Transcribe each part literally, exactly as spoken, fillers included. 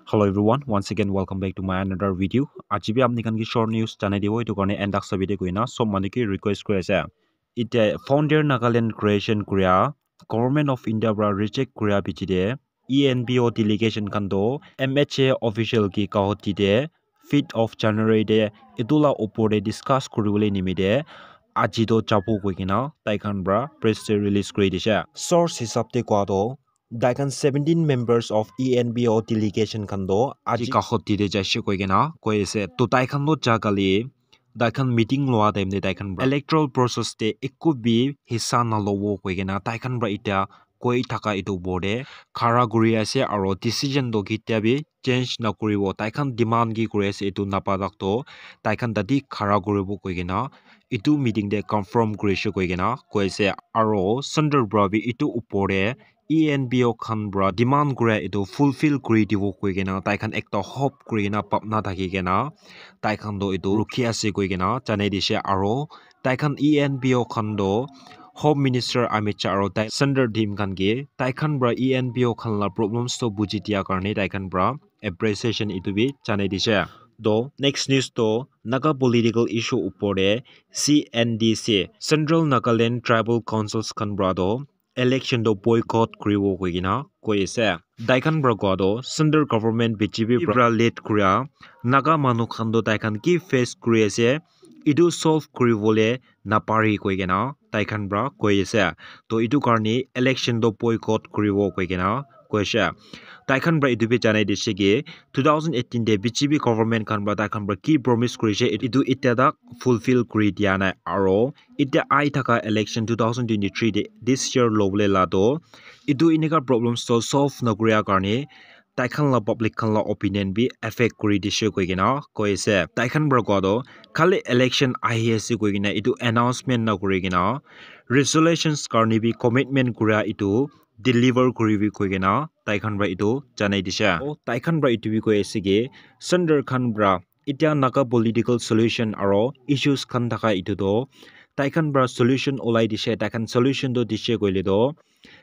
Hello everyone, once again welcome back to my another video. Aji bi apni khan ki short news janai dibo, etu karne end tak sabi de koina sob manu ki request kuri ase. Ite founder Nagaland creation kuria Government of India pra reject kuria bichi de E N P O delegation khan to M H A official ki kahoti de fifth of January de etu la upor de discuss kuri bole nimite aji to jabo koi kena tai khan pra press release kuri dishe. Source hisab de koa to tai khan seventeen members of E N P O delegation khan to aji kahoti de jaise koi kena koi ase. To tai khan to ja kali tai khan meeting loa time de tai khan pra electoral process de eku bi hissa na lobo koi kena tai khan pra itya koi thaka etu upor de khara kuri ase aro decision to ketia bi change na kuribo. Tai khan demand ki kuri ase etu napa tak to tai khan tate khara kuribo koi kena etu meeting de confirm kuri she koi kena koi ase. Aro center pra bi etu upor de E N P O khan pra demand kura etu fulfill kuri dibo koi kena tai khan ekta hope kuri kena bhabna thaki kena tai khan to etu rukhi ase koi kena janai dishe. Aro tai khan E N P O khan to Home Minister Amit Shah aro tai center team khan ke tai khan pra E N P O khan la problems to buji dia karne tai khan pra appreciation etu bi janai dishe. To next news to Naga political issue upor de C N D C, Central Nagaland Tribal Councils khan pra to election to boycott kuribo koi kena koi ase. Tai khan pra koa to center government B J P pra lead kuria Naga manu khan to tai khan ki face kuri ase etu solve kuribole napari koi kena tai khan pra koi ase. To etu karne election to boycott kuribo koi kena koi ase. Tai khan pra etu bi janai dishe ki two thousand eighteen de B J P government khan pra tai khan pra ki promise kurishe etu itya tak fulfill kuri dia nai. Aro itya ai thaka election two thousand twenty-three de this year lobole la to etu enika problems to solve na kuria karne tai khan la public khan la opinion bi affect kuri dishe koi kena koi ase. Tai khan pra koa to khali election ahi ase koi kena etu announcement na kuri kena resolutions karne bi commitment kura etu deliver kuribi koi kena tai khan pra etu janai dishe. Tai khan pra etu bi koi ase ki center khan pra itya Naga political solution aro issues khan thaka etu to tai khan pra solution ulai dishe. Tai khan solution to dishe koile to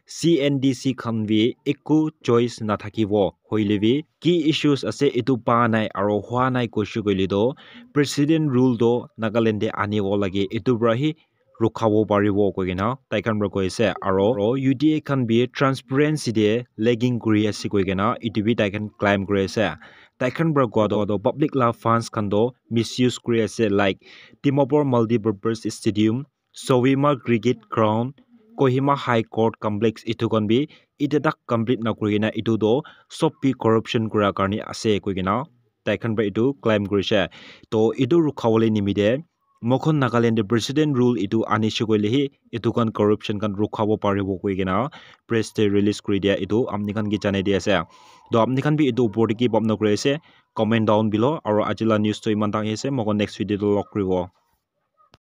C N D C khan bi eku choice na thakibo. Hoile bi ki issues ase etu pa nai aro hua nai koishe koile to president rule to Nagaland de anibo lage, etu pra hi rukhabo paribo koi kena tai khan pra koi ase. Aro U D A khan bi transparency de lagging kuri ase koi kena etu bi tai khan claim kuri ase. Tai khan pra koa to public la funds khan to misuse kuri ase, like Dimapur Multipurpose Stadium, Sawima Cricket Ground, Kohima High Court Complex etu khan bi itya tak complete na kuri kena etu to sob bi corruption kura karne ase koi kena tai khan pra etu claim kurishe. To etu rukhabole nimite moikhan Nagaland de president rule etu anishe koile hi etu khan corruption khan rukhabo paribo koi kena press de release kuri dia etu apni khan ke janai di ase. To apni khan bi etu upor de ki bhabna kuri ase comment down below. Aro aji la news to iman tak hi ase, moikhan next video de log kuribo.